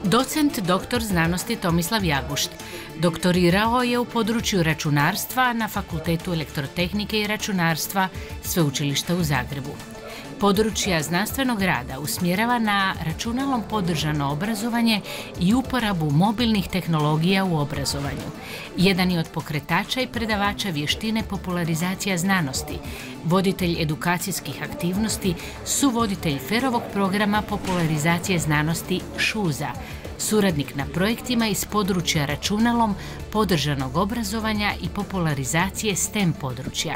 Docent doktor znanosti Tomislav Jagušt. Doktorirao je u području računarstva na Fakultetu elektrotehnike i računarstva Sveučilišta u Zagrebu. Područja znanstvenog rada usmjerava na računalom podržano obrazovanje i uporabu mobilnih tehnologija u obrazovanju. Jedan je od pokretača i predavača vještine popularizacija znanosti, voditelj edukacijskih aktivnosti, suvoditelj FER-ovog programa popularizacije znanosti ŠUZA, suradnik na projektima iz područja računalom podržanog obrazovanja i popularizacije STEM područja.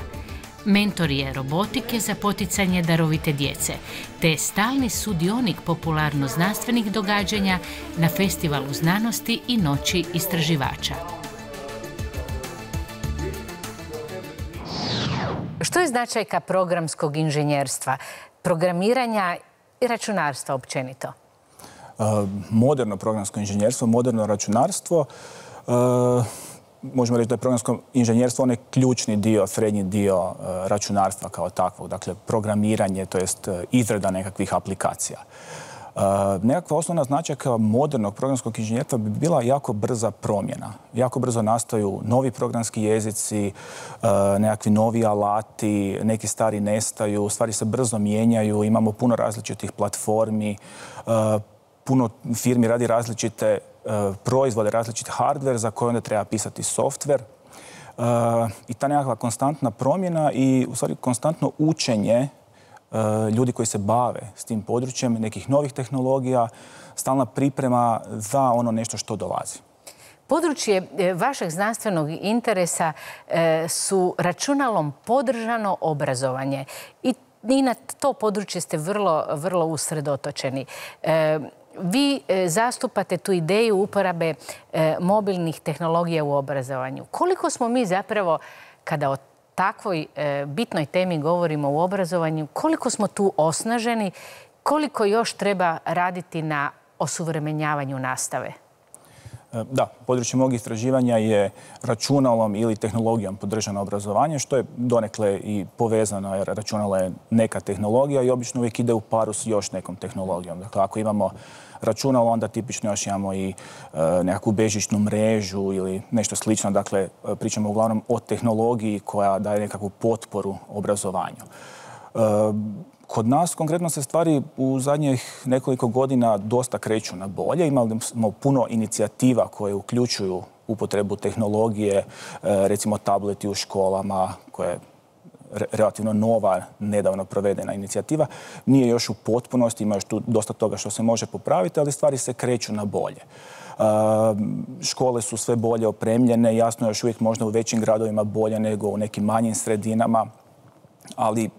Mentor je robotike za poticanje darovite djece, te stalni sudionik popularno-znanstvenih događanja na Festivalu znanosti i Noći istraživača. Što je značajka programskog inženjerstva, programiranja i računarstva općenito? Moderno programsko inženjerstvo, moderno računarstvo, možemo reći da je programsko inženjerstvo onaj ključni dio, srednji dio računarstva kao takvog, dakle programiranje, to jest izrada nekakvih aplikacija. Nekakva osnovna značajka modernog programskog inženjerstva bi bila jako brza promjena. Jako brzo nastaju novi programski jezici, nekakvi novi alati, neki stari nestaju, stvari se brzo mijenjaju, imamo puno različitih platformi, puno firmi radi različite proizvode, različit hardware za koje onda treba pisati software. I ta nekakva konstantna promjena i u stvari konstantno učenje ljudi koji se bave s tim područjem, nekih novih tehnologija, stalna priprema za ono nešto što dolazi. Područje vašeg znanstvenog interesa su računalom podržano obrazovanje i na to područje ste vrlo usredotočeni. Vi zastupate tu ideju uporabe mobilnih tehnologija u obrazovanju. Koliko smo mi zapravo, kada o takvoj bitnoj temi govorimo u obrazovanju, koliko smo tu osnaženi, koliko još treba raditi na osuvremenjavanju nastave? Da, područje mog istraživanja je računalom ili tehnologijom podržano obrazovanje, što je donekle i povezano, jer računalo je neka tehnologija i obično uvijek ide u paru s još nekom tehnologijom. Dakle, ako imamo računalo, onda tipično još imamo i nekakvu bežičnu mrežu ili nešto slično. Dakle, pričamo uglavnom o tehnologiji koja daje nekakvu potporu obrazovanju. Kod nas konkretno se stvari u zadnjih nekoliko godina dosta kreću na bolje. Imali smo puno inicijativa koje uključuju upotrebu tehnologije, recimo tableti u školama, koja je relativno nova, nedavno provedena inicijativa. Nije još u potpunosti, ima još tu dosta toga što se može popraviti, ali stvari se kreću na bolje. Škole su sve bolje opremljene, jasno još uvijek možda u većim gradovima bolje nego u nekim manjim sredinama, ali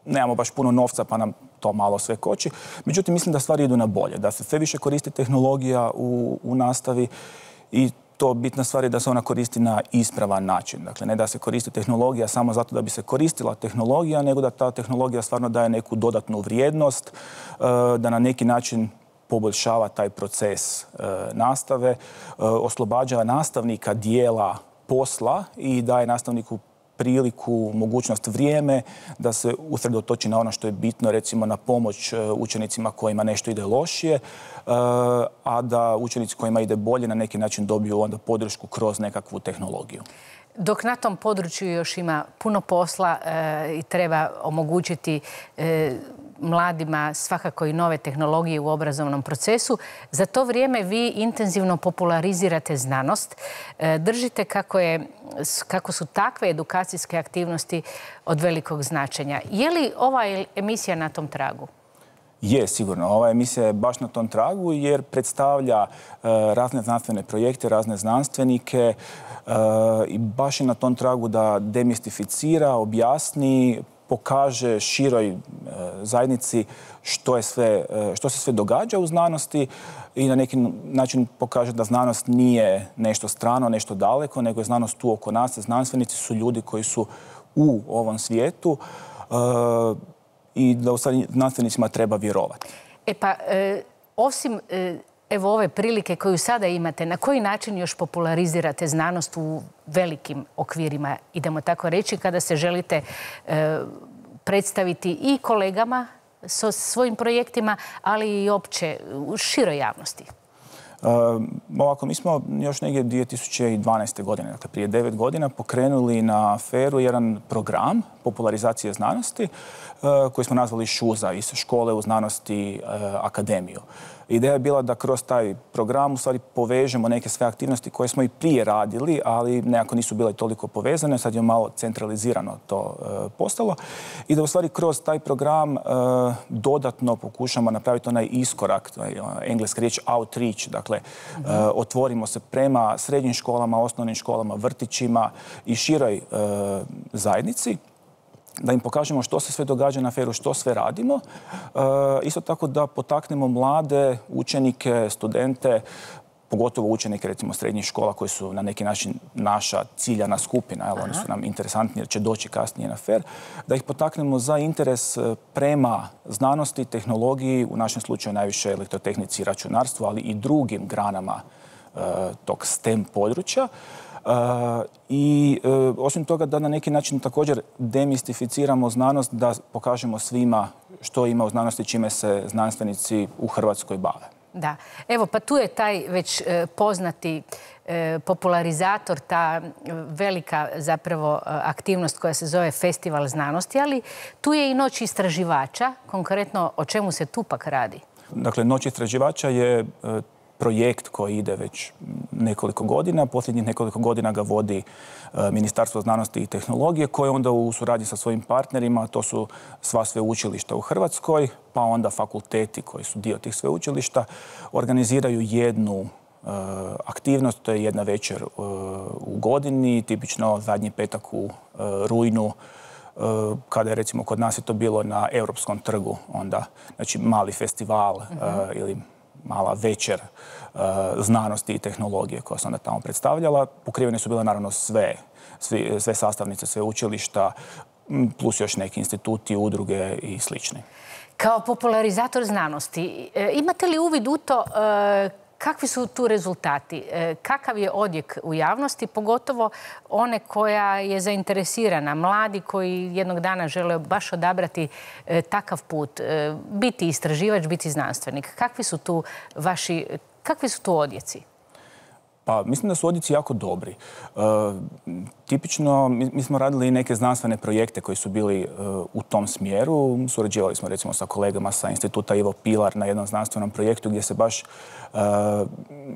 nemamo baš puno novca pa nam to malo sve koči. Međutim, mislim da stvari idu na bolje, da se sve više koristi tehnologija u nastavi i to bitna stvar je da se ona koristi na ispravan način. Dakle, ne da se koristi tehnologija samo zato da bi se koristila tehnologija, nego da ta tehnologija stvarno daje neku dodatnu vrijednost, da na neki način poboljšava taj proces nastave, oslobađa nastavnika dijela posla i daje nastavniku priliku, mogućnost, vrijeme da se usredotoči na ono što je bitno, recimo na pomoć učenicima kojima nešto ide lošije, a da učenici kojima ide bolje na neki način dobiju onda podršku kroz nekakvu tehnologiju. Dok na tom području još ima puno posla i treba omogućiti mladima svakako i nove tehnologije u obrazovnom procesu, za to vrijeme vi intenzivno popularizirate znanost. Držite kako su takve edukacijske aktivnosti od velikog značenja. Je li ova emisija na tom tragu? Je, sigurno. Ova emisija je baš na tom tragu jer predstavlja razne znanstvene projekte, razne znanstvenike i baš je na tom tragu da demistificira, objasni, pokaže široj zajednici što se sve događa u znanosti i na neki način pokaže da znanost nije nešto strano, nešto daleko, nego je znanost tu oko nas. Znanstvenici su ljudi koji su u ovom svijetu i da u stvari znanstvenicima treba vjerovati. Osim evo ove prilike koju sada imate, na koji način još popularizirate znanost u velikim okvirima, idemo tako reći, kada se želite predstaviti i kolegama sa svojim projektima, ali i opće u široj javnosti? Ovako, mi smo još negdje 2012. godine, dakle prije 9 godina, pokrenuli na FER-u jedan program popularizacije znanosti koji smo nazvali ŠUZA, iz Škole u znanosti akademiju. Ideja je bila da kroz taj program u stvari povežemo neke sve aktivnosti koje smo i prije radili, ali nekako nisu bile toliko povezane. Sad je malo centralizirano to postalo. I da u stvari kroz taj program dodatno pokušamo napraviti onaj iskorak, engleska riječ outreach, dakle otvorimo se prema srednjim školama, osnovnim školama, vrtićima i široj zajednici, da im pokažemo što se sve događa na FER-u, što sve radimo. Isto tako da potaknemo mlade učenike, studente, pogotovo učenike recimo srednjih škola koji su na neki način naša ciljana skupina, oni su nam interesantni jer će doći kasnije na FER, da ih potaknemo za interes prema znanosti, tehnologiji, u našem slučaju najviše elektrotehnici i računarstvu, ali i drugim granama tog STEM područja. I osim toga da na neki način također demistificiramo znanost, da pokažemo svima što ima u znanosti, čime se znanstvenici u Hrvatskoj bave. Da. Evo, pa tu je taj već poznati popularizator, ta velika zapravo aktivnost koja se zove Festival znanosti, ali tu je i Noć istraživača. Konkretno, o čemu se tu pak radi? Dakle, Noć istraživača je projekt koji ide već nekoliko godina. Posljednjih nekoliko godina ga vodi Ministarstvo znanosti i tehnologije, koje onda u suradnji sa svojim partnerima, to su sva sveučilišta u Hrvatskoj, pa onda fakulteti koji su dio tih sveučilišta, organiziraju jednu aktivnost, to je jedna večer u godini, tipično zadnji petak u rujnu, kada je recimo kod nas je to bilo na Europskom trgu, onda znači mali festival ili mala večer znanosti i tehnologije koja se onda tamo predstavljala. Pokrivene su bile naravno sve sastavnice, sve učilišta, plus još neki instituti, udruge i slični. Kao popularizator znanosti, imate li uvid u to kakvi su tu rezultati? Kakav je odjek u javnosti, pogotovo one koja je zainteresirana, mladi koji jednog dana žele baš odabrati takav put, biti istraživač, biti znanstvenik? Kakvi su tu odjeci? Pa mislim da su odjeci jako dobri. Tipično, mi smo radili neke znanstvene projekte koji su bili u tom smjeru. Surađivali smo recimo sa kolegama sa Instituta Ivo Pilar na jednom znanstvenom projektu gdje se baš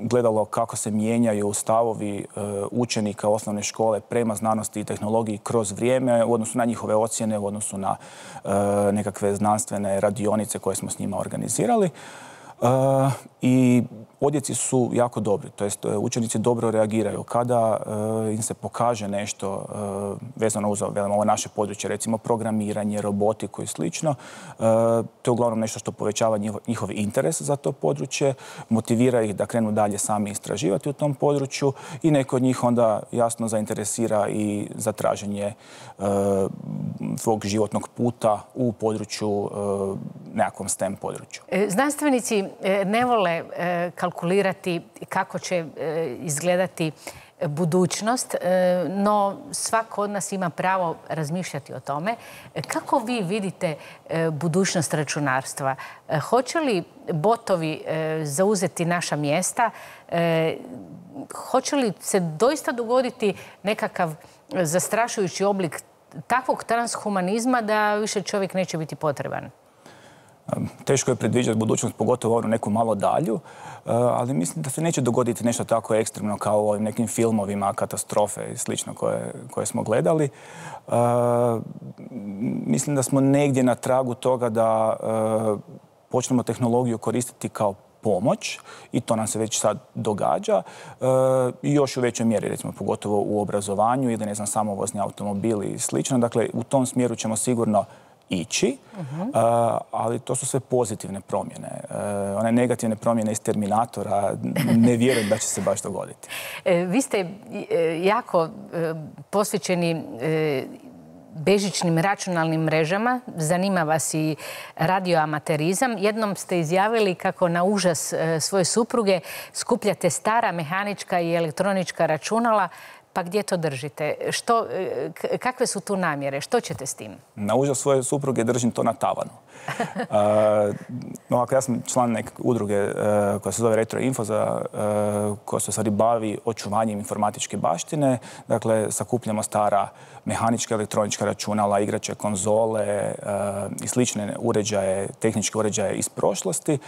gledalo kako se mijenjaju stavovi učenika osnovne škole prema znanosti i tehnologiji kroz vrijeme u odnosu na njihove ocjene, u odnosu na nekakve znanstvene radionice koje smo s njima organizirali. I odjeci su jako dobri, to jest učenici dobro reagiraju. Kada im se pokaže nešto vezano uz ovo naše područje, recimo programiranje, robotiku i slično, to je uglavnom nešto što povećava njihov interes za to područje, motivira ih da krenu dalje sami istraživati u tom području i neko od njih onda jasno zainteresira i za traženje svog životnog puta u području, nekakvom STEM području. Znanstvenici ne vole kalkulirati kako će izgledati budućnost, no svako od nas ima pravo razmišljati o tome. Kako vi vidite budućnost računarstva? Hoće li botovi zauzeti naša mjesta? Hoće li se doista dogoditi nekakav zastrašujući oblik takvog transhumanizma da više čovjek neće biti potreban? Teško je predviđati budućnost, pogotovo onu neku malo dalju, ali mislim da se neće dogoditi nešto tako ekstremno kao u ovim nekim filmovima, katastrofe i slično koje smo gledali. Mislim da smo negdje na tragu toga da počnemo tehnologiju koristiti kao pomoć i to nam se već sad događa i još u većoj mjeri, recimo pogotovo u obrazovanju ili samovozni automobili i slično. Dakle, u tom smjeru ćemo sigurno ići, ali to su sve pozitivne promjene. One negativne promjene iz Terminatora ne vjerujem da će se baš dogoditi. Vi ste jako posvećeni bežičnim računalnim mrežama. Zanima vas i radioamaterizam. Jednom ste izjavili kako na užas svoje supruge skupljate stara mehanička i elektronička računala Pa gdje to držite? Kakve su tu namjere? Što ćete s tim? Na užas svoje supruge držim to na tavanu. Ja sam član neke udruge koja se zove Retro Info, koja se u stvari bavi očuvanjem informatičke baštine. Dakle, sakupljamo stara mehanička, elektronička računala, igrače, konzole i slične uređaje, tehničke uređaje iz prošlosti.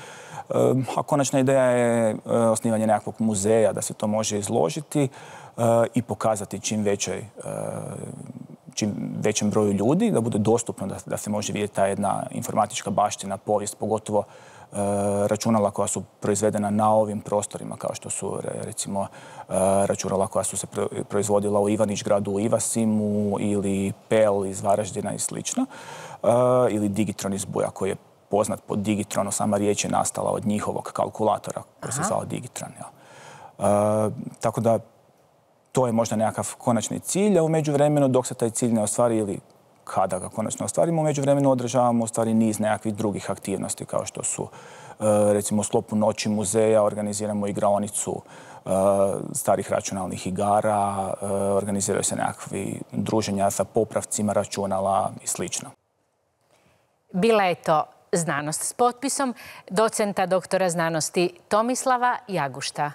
A konačna ideja je osnivanje nekakvog muzeja da se to može izložiti i pokazati čim većem broju ljudi, da bude dostupno da se može vidjeti ta jedna informatička baština, povijest, pogotovo računala koja su proizvedena na ovim prostorima, kao što su recimo računala koja su se proizvodila u Ivanić-gradu u Ivasimu ili PEL iz Varaždina i slično, ili Digitron iz Buja koji je poznat pod Digitronu, sama riječ je nastala od njihovog kalkulatora koji se zvao Digitron. Tako da to je možda nekakav konačni cilj, a u međuvremenu dok se taj cilj ne ostvari ili kada ga konačno ostvarimo, u međuvremenu održavamo u stvari niz nekakvih drugih aktivnosti kao što su recimo u sklopu Noći muzeja organiziramo igraonicu starih računalnih igara, organiziraju se nekakvi druženja sa popravcima računala i slično. Bila je to Znanost s potpisom docenta doktora znanosti Tomislava Jagušta.